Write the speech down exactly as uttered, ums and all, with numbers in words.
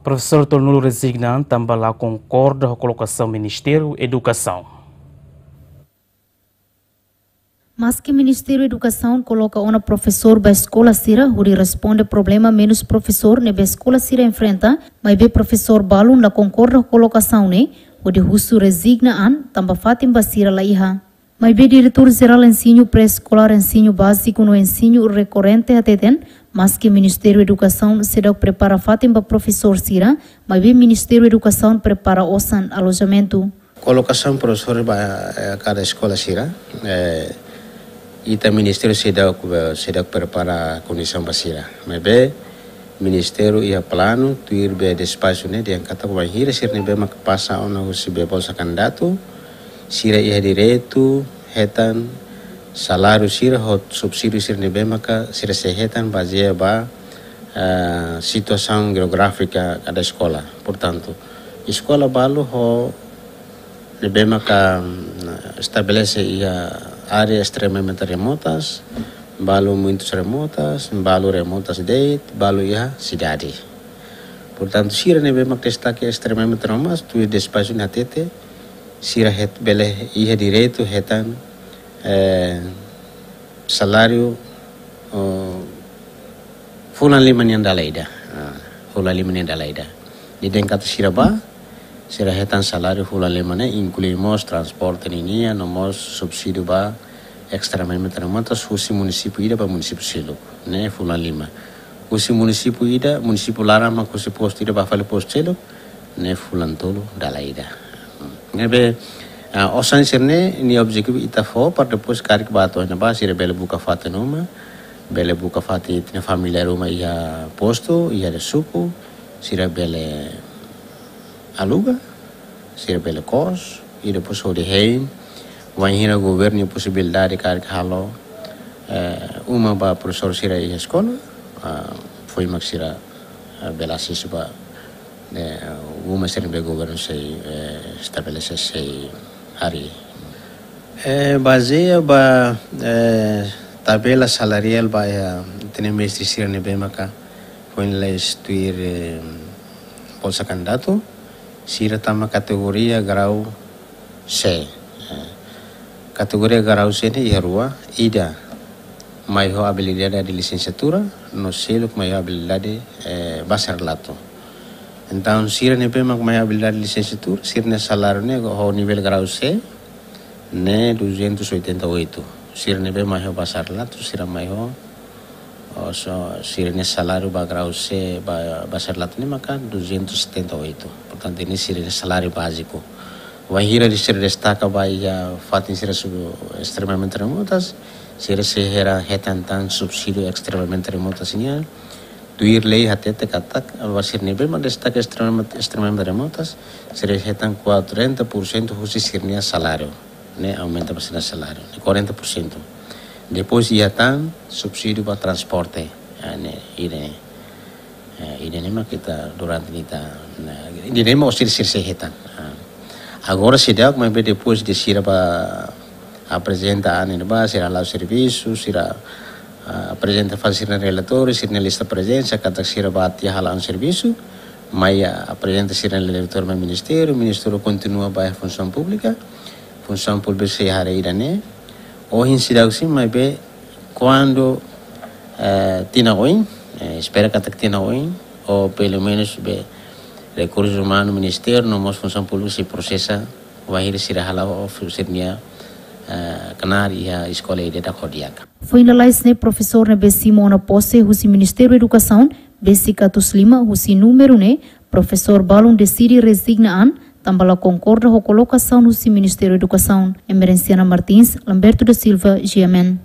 Profesór tolunulu rezigna an tanba la konkorda ho kolokasaun Ministériu Edukasaun. Maski Ministériu Edukasaun koloka ona profesór ba eskola sira hodi responde problema menus profesór ne'ebé eskola sira enfrenta, maibé profesór balun la konkorda ho kolokasaun ne'e, hodi husu rezigna an tanba fatin ba sira la iha. Maibé Diretór Jerál Ensiñu Pré-Eskolár, Ensiñu Báziku no Ensiñu Rekorrente hateten, maski Ministériu Edukasaun seidauk prepara fatin ba profesór sira, maibé Ministériu Edukasaun prepara osan alojamentu. Kolokasaun profesór ba, eh, kada eskola sira, eh, ita ministériu seidauk, eh, seidauk prepara kondisaun ba sira. Maibé ministériu iha planu, tuir be despaxu ne'e, dehan katak bainhira sira ne'ebé mak pasa ona husi be bolsa kandidatu, sira iha direitu hetan saláriu sira ho subsídiu sira ne'ebé maka sira sei hetan bazeia ba, eh, situasaun jeográfika kada eskola. Portantu, eskola balu ho ne'ebé maka, mm, estabelese iha área estremamente remotas, balu muitus remotas, balu remotas de'it, balu iha sidade. Portantu, sira ne'ebé mak destake estremamente remotas, tuir despaxu ne'e hatete, sira het-, bele iha direitu hetan, eh, saláriu, oh, fulan lima nian dala ida. Ah, fulan lima nian dala ida. Ne'e dehan katak sira bá, sira hetan saláriu fulan lima ne'e, inklui mós transporte ninian, no mós subsídiu ba estremamente remotas, husi munisípiu ida ba munisípiu seluk, ne'e fulan lima. Husi munisípiu ida, munisípiu laran mak husi postu ida bá fali postu seluk, ne'e fulan tolu dala ida. Ne'ebé, ah, osan sira-ne'e, nia objetivu ita fó, para depois karik bá to'o iha ne'ebá, sira bele buka fatin uma, bele buka fatin ita-nia familiár uma iha postu, iha suku, sira bele aluga, sira bele kos, i depois hodi hein, wainhira governu posibilidade karik halo, eh, uma ba profesór sira iha eskola, ah, foin mak sira, ah, bele asesu ba, eh, uma sira ne'ebé governu sei, eh, estabelese sei harii. Eh, bazeia ba, eh, tabela salariál ba iha ita-nia mestre sira ne'ebé maka foin la'ós tuir, eh, bolsa kandidatu, sira tama kategoria grau C. Eh, kategoria grau C ne'e iha rua, ida mai ho abilidade de lisensiatura, no seluk mai ho abilidade, eh, bacharelatu. Entaun, sira ne'ebé mak mai ho abilidade de lisensiatura, sira-nia saláriu ne'e ho nivel grau C, ne'e duzentos e oitenta e oito. Sira ne'ebé mai ho bacharelatu, sira mai ho, oh, so, sira-nia saláriu ba grau C, ba, bacharelatu ne'e maka duzentos e setenta e oito. Portantu, ne'e sira-nia saláriu báziku. Wainhira sira destaka ba iha fatin sira sub-, estremamente remotas, sira sei hetan tan subsídiu estremamente remotas nian. Tuir lei hatete katak, ba sira ne'ebé mak destaka estremamente, estremamente remotas, sira hetan quarenta por cento husi sira-nia saláriu. Ne'e aumenta ba sira-nia saláriu, ne'e quarenta por cento. Depois iha tan subsídiu ba transporte, ah, ne'e, ida-ne'e. Eh, ida-ne'e mak ita durante ne'e ita, ne'e, ida-ne'e mak sira, sira sei hetan. Ah. Agora seidauk, maibé depois de sira bá aprezenta an ne'ebá, sira hala'o servisu, sira, ah, aprezenta fali sira-nia relatóriu, sira-nia lista prezensa, katak sira bá tiha hala'o servisu, mai, ah, aprezenta sira-nia relatóriu mai ministériu, ministériu kontinua ba funsaun públika, funsaun públika sei haree ida-ne'e. Ohin seidauk sin, maibé kuandu, eh, tinan oin, eh, espera katak tinan oin, ou pelumenus be rekursus umanus ministériu, no mós funsaun públika sei prosesa, wainhira sira hala'o sira-nia, eh, knaar iha eskola ida-idak ho di'ak. Foin lalais ne'e profesór ne'ebé simu ona pose husi Ministériu Edukasaun, besik atus lima husi númeru ne'e, profesór balun deside rezigna an, tanba la konkorda ho kolokasaun husi Ministériu Edukasaun. Emerenciana Martins, Lamberto da Silva, G M N.